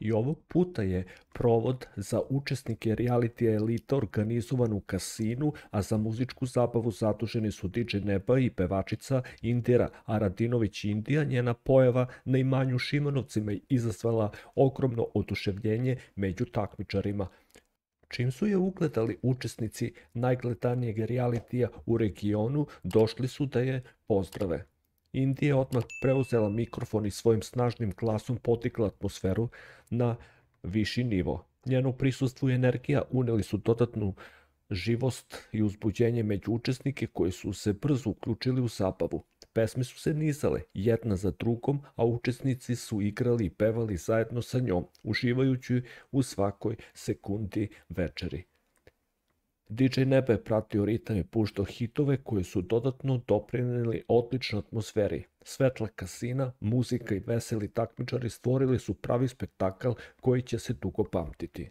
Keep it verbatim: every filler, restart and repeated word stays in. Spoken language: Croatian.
I ovog puta je provod za učesnike realitija Elita organizovan u kasinu, a za muzičku zabavu zaduženi su D J Neba i pevačica Indira Aradinović Indija. Njena pojava na imanju u Šimanovcima je izazvala ogromno oduševljenje među takmičarima. Čim su je ugledali učesnici najgledanijeg realitija u regionu, došli su da je pozdrave. Indija je odmah preuzela mikrofon i svojim snažnim glasom podigla atmosferu na viši nivo. Njeno prisustvo i energija uneli su dodatnu živost i uzbuđenje među učesnike koji su se brzo uključili u zabavu. Pesme su se nizale jedna za drugom, a učesnici su igrali i pevali zajedno sa njom, uživajući u svakoj sekundi večeri. D J Neba je pratio ritam i puštao hitove koji su dodatno doprineli odličnoj atmosferi. Svetla kasina, muzika i veseli takmičari stvorili su pravi spektakl koji će se dugo pamtiti.